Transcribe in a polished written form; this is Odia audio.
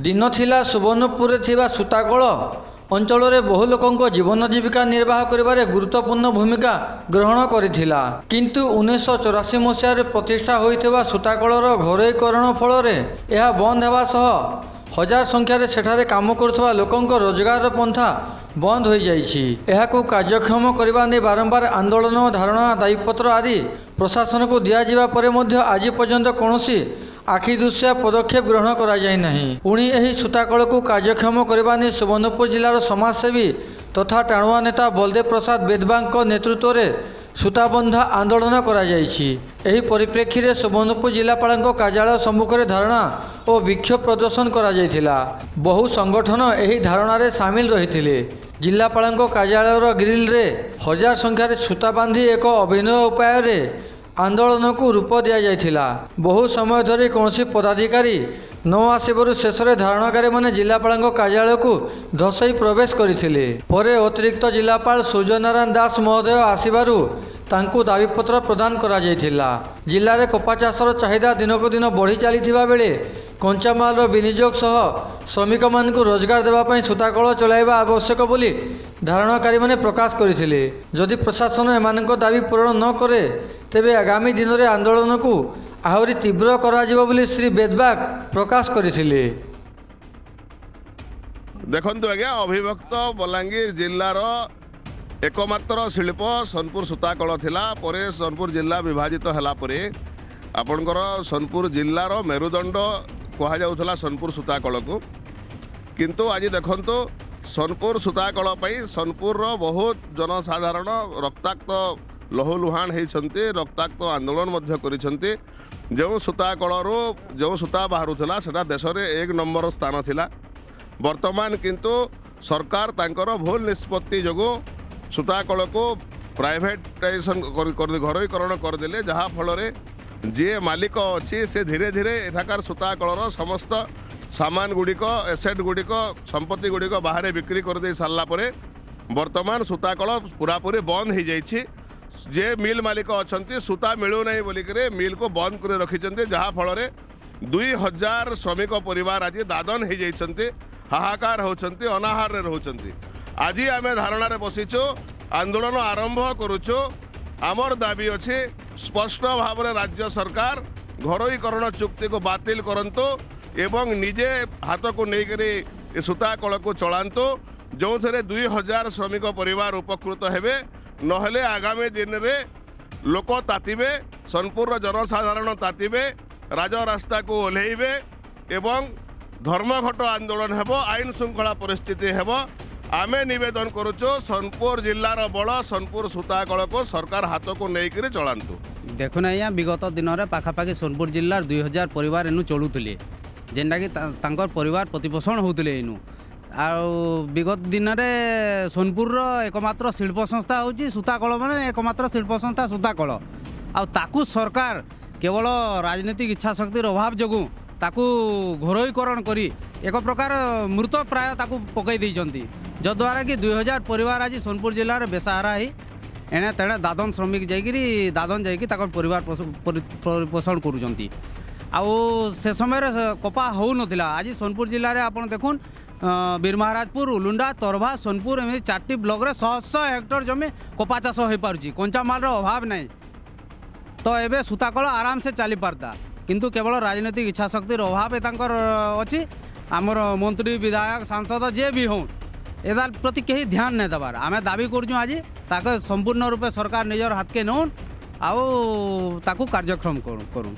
ଦିନ ଥିଲା, ସୁବର୍ଣ୍ଣପୁରରେ ଥିବା ସୂତାକଳ ଅଞ୍ଚଳରେ ବହୁ ଲୋକଙ୍କ ଜୀବନ ଜୀବିକା ନିର୍ବାହ କରିବାରେ ଗୁରୁତ୍ୱପୂର୍ଣ୍ଣ ଭୂମିକା ଗ୍ରହଣ କରିଥିଲା। କିନ୍ତୁ 1984 ମସିହାରେ ପ୍ରତିଷ୍ଠା ହୋଇଥିବା ସୂତାକଳର ଘରୋଇକରଣ ଫଳରେ ଏହା ବନ୍ଦ ହେବା ସହ ହଜାର ସଂଖ୍ୟାରେ ସେଠାରେ କାମ କରୁଥିବା ଲୋକଙ୍କ ରୋଜଗାରର ପନ୍ଥା ବନ୍ଦ ହୋଇଯାଇଛି। ଏହାକୁ କାର୍ଯ୍ୟକ୍ଷମ କରିବା ନେଇ ବାରମ୍ବାର ଆନ୍ଦୋଳନ, ଧାରଣା, ଦାବିପତ୍ର ଆଦି ପ୍ରଶାସନକୁ ଦିଆଯିବା ପରେ ମଧ୍ୟ ଆଜି ପର୍ଯ୍ୟନ୍ତ କୌଣସି ଆଖିଦୃଶିଆ ପଦକ୍ଷେପ ଗ୍ରହଣ କରାଯାଇନାହିଁ। ପୁଣି ଏହି ସୂତାକଳକୁ କାର୍ଯ୍ୟକ୍ଷମ କରିବା ନେଇ ସୁବର୍ଣ୍ଣପୁର ଜିଲ୍ଲାର ସମାଜସେବୀ ତଥା ଟାଣୁଆ ନେତା ବଳଦେବ ପ୍ରସାଦ ବେଦବାଙ୍କ ନେତୃତ୍ୱରେ ସୂତାବନ୍ଧା ଆନ୍ଦୋଳନ କରାଯାଇଛି। ଏହି ପରିପ୍ରେକ୍ଷୀରେ ସୁବର୍ଣ୍ଣପୁର ଜିଲ୍ଲାପାଳଙ୍କ କାର୍ଯ୍ୟାଳୟ ସମ୍ମୁଖରେ ଧାରଣା ଓ ବିକ୍ଷୋଭ ପ୍ରଦର୍ଶନ କରାଯାଇଥିଲା। ବହୁ ସଂଗଠନ ଏହି ଧାରଣାରେ ସାମିଲ ରହିଥିଲେ। ଜିଲ୍ଲାପାଳଙ୍କ କାର୍ଯ୍ୟାଳୟର ଗ୍ରିଲରେ ହଜାର ସଂଖ୍ୟାରେ ସୂତା ବାନ୍ଧି ଏକ ଅଭିନବ ଉପାୟରେ ଆନ୍ଦୋଳନକୁ ରୂପ ଦିଆଯାଇଥିଲା। ବହୁ ସମୟ ଧରି କୌଣସି ପଦାଧିକାରୀ ନ ଆସିବାରୁ ଶେଷରେ ଧାରଣାକାରୀମାନେ ଜିଲ୍ଲାପାଳଙ୍କ କାର୍ଯ୍ୟାଳୟକୁ ଧସେଇ ପ୍ରବେଶ କରିଥିଲେ। ପରେ ଅତିରିକ୍ତ ଜିଲ୍ଲାପାଳ ସୂର୍ଯ୍ୟନାରାୟଣ ଦାସ ମହୋଦୟ ଆସିବାରୁ ତାଙ୍କୁ ଦାବିପତ୍ର ପ୍ରଦାନ କରାଯାଇଥିଲା। ଜିଲ୍ଲାରେ କପା ଚାଷର ଚାହିଦା ଦିନକୁ ଦିନ ବଢ଼ି ଚାଲିଥିବା ବେଳେ କଞ୍ଚାମାଲର ବିନିଯୋଗ ସହ ଶ୍ରମିକମାନଙ୍କୁ ରୋଜଗାର ଦେବା ପାଇଁ ସୂତାକଳ ଚଳାଇବା ଆବଶ୍ୟକ ବୋଲି ଧାରଣାକାରୀମାନେ ପ୍ରକାଶ କରିଥିଲେ। ଯଦି ପ୍ରଶାସନ ଏମାନଙ୍କ ଦାବି ପୂରଣ ନ କରେ, ତେବେ ଆଗାମୀ ଦିନରେ ଆନ୍ଦୋଳନକୁ ଆହୁରି ତୀବ୍ର କରାଯିବ ବୋଲି ଶ୍ରୀ ବେଦବାଗ ପ୍ରକାଶ କରିଥିଲେ। ଦେଖନ୍ତୁ ଆଜ୍ଞା, ଅବିଭକ୍ତ ବଲାଙ୍ଗୀର ଜିଲ୍ଲାର ଏକମାତ୍ର ଶିଳ୍ପ ସୋନପୁର ସୂତାକଳ ଥିଲା। ପରେ ସୋନପୁର ଜିଲ୍ଲା ବିଭାଜିତ ହେଲା ପରେ ଆପଣଙ୍କର ସୋନପୁର ଜିଲ୍ଲାର ମେରୁଦଣ୍ଡ କୁହାଯାଉଥିଲା ସୋନପୁର ସୂତାକଳକୁ। କିନ୍ତୁ ଆଜି ଦେଖନ୍ତୁ, ସୋନପୁର ସୂତାକଳ ପାଇଁ ସୋନପୁରର ବହୁତ ଜନସାଧାରଣ ରକ୍ତାକ୍ତ ଲହୁଲୁହାଣ ହେଇଛନ୍ତି, ରକ୍ତାକ୍ତ ଆନ୍ଦୋଳନ ମଧ୍ୟ କରିଛନ୍ତି। ଯେଉଁ ସୂତାକଳରୁ ଯେଉଁ ସୂତା ବାହାରୁଥିଲା, ସେଟା ଦେଶରେ 1 ନମ୍ବର ସ୍ଥାନ ଥିଲା। ବର୍ତ୍ତମାନ କିନ୍ତୁ ସରକାର ତାଙ୍କର ଭୁଲ ନିଷ୍ପତ୍ତି ଯୋଗୁଁ ସୂତାକଳକୁ ପ୍ରାଇଭେଟାଇଜେସନ୍ ଘରୋଇକରଣ କରିଦେଲେ, ଯାହାଫଳରେ ଯିଏ ମାଲିକ ଅଛି ସେ ଧୀରେ ଧୀରେ ଏଠାକାର ସୂତାକଳର ସମସ୍ତ ସାମାନ ଗୁଡ଼ିକ, ଏସେଟ୍ ଗୁଡ଼ିକ, ସମ୍ପତ୍ତି ଗୁଡ଼ିକ ବାହାରେ ବିକ୍ରି କରିଦେଇ ସାରିଲା ପରେ ବର୍ତ୍ତମାନ ସୂତାକଳ ପୁରାପୁରି ବନ୍ଦ ହେଇଯାଇଛି। ଯେ ମିଲ୍ ମାଲିକ ଅଛନ୍ତି, ସୂତା ମିଳୁନାହିଁ ବୋଲିକିରି ମିଲ୍କୁ ବନ୍ଦ କରି ରଖିଛନ୍ତି, ଯାହାଫଳରେ 2000 ଶ୍ରମିକ ପରିବାର ଆଜି ଦାଦନ ହେଇଯାଇଛନ୍ତି, ହାହାକାର ହେଉଛନ୍ତି, ଅନାହାରରେ ରହୁଛନ୍ତି। ଆଜି ଆମେ ଧାରଣାରେ ବସିଛୁ, ଆନ୍ଦୋଳନ ଆରମ୍ଭ କରୁଛୁ। ଆମର ଦାବି ଅଛି, ସ୍ପଷ୍ଟ ଭାବରେ ରାଜ୍ୟ ସରକାର ଘରୋଇକରଣ ଚୁକ୍ତିକୁ ବାତିଲ କରନ୍ତୁ ଏବଂ ନିଜେ ହାତକୁ ନେଇକରି ଏ ସୂତାକଳକୁ ଚଳାନ୍ତୁ, ଯେଉଁଥିରେ 2000 ଶ୍ରମିକ ପରିବାର ଉପକୃତ ହେବେ। ନହେଲେ ଆଗାମୀ ଦିନରେ ଲୋକ ତାତିବେ, ସୋନପୁରର ଜନସାଧାରଣ ତାତିବେ, ରାଜରାସ୍ତାକୁ ଓହ୍ଲେଇବେ ଏବଂ ଧର୍ମଘଟ ଆନ୍ଦୋଳନ ହେବ, ଆଇନ ଶୃଙ୍ଖଳା ପରିସ୍ଥିତି ହେବ। ଆମେ ନିବେଦନ କରୁଛୁ, ସୋନପୁର ଜିଲ୍ଲାର ବଳ ସୋନପୁର ସୂତାକଳକୁ ସରକାର ହାତକୁ ନେଇକରି ଚଳାନ୍ତୁ। ଦେଖୁନ୍ ଆଜ୍ଞା, ବିଗତ ଦିନରେ ପାଖାପାଖି ସୋନପୁର ଜିଲ୍ଲାର 2000 ପରିବାର ଏନୁ ଚଳୁଥିଲେ, ଯେନ୍ଟାକି ତାଙ୍କର ପରିବାର ପ୍ରତିପୋଷଣ ହେଉଥିଲେ ଏନୁ। ଆଉ ବିଗତ ଦିନରେ ସୋନପୁରର ଏକମାତ୍ର ଶିଳ୍ପ ସଂସ୍ଥା ହେଉଛି ସୂତାକଳ, ମାନେ ଏକମାତ୍ର ଶିଳ୍ପ ସଂସ୍ଥା ସୂତାକଳ। ଆଉ ତାକୁ ସରକାର କେବଳ ରାଜନୈତିକ ଇଚ୍ଛା ଶକ୍ତିର ଅଭାବ ଯୋଗୁଁ ତାକୁ ଘରୋଇକରଣ କରି ଏକ ପ୍ରକାର ମୃତ ପ୍ରାୟ ତାକୁ ପକାଇ ଦେଇଛନ୍ତି, ଯଦ୍ୱାରା କି 2000 ପରିବାର ଆଜି ସୋନପୁର ଜିଲ୍ଲାରେ ବେସାହାରା ହେଇ ଏଣେ ତେଣେ ଦାଦନ ଶ୍ରମିକ ଯାଇକିରି, ଦାଦନ ଯାଇକି ତାଙ୍କର ପରିବାର ପରିପୋଷଣ କରୁଛନ୍ତି। ଆଉ ସେ ସମୟରେ କପା ହେଉନଥିଲା। ଆଜି ସୋନପୁର ଜିଲ୍ଲାରେ ଆପଣ ଦେଖୁନ୍, ବୀରମହାରାଜପୁର, ଉଲୁଣ୍ଡା, ତରଭା, ସୋନପୁର ଏମିତି 4ଟି ବ୍ଲକରେ ଶହ ଶହ ହେକ୍ଟର ଜମି କପା ଚାଷ ହୋଇପାରୁଛି। କଞ୍ଚାମାଲର ଅଭାବ ନାହିଁ। ତ ଏବେ ସୂତାକଳ ଆରାମସେ ଚାଲିପାରତା, କିନ୍ତୁ କେବଳ ରାଜନୈତିକ ଇଚ୍ଛାଶକ୍ତିର ଅଭାବ ତାଙ୍କର ଅଛି। ଆମର ମନ୍ତ୍ରୀ, ବିଧାୟକ, ସାଂସଦ ଯିଏ ବି ହଉନ୍, ଏତାର ପ୍ରତି କେହି ଧ୍ୟାନ ନାଇଁ ଦେବାର। ଆମେ ଦାବି କରୁଛୁ, ଆଜି ତାকে ସମ୍ପୂର୍ଣ୍ଣ ରୂପେ ସରକାର ନିଜର ହାତକେ ନେଉନ୍ ଆଉ ତାକୁ କାର୍ଯ୍ୟକ୍ରମ କରୁନ୍।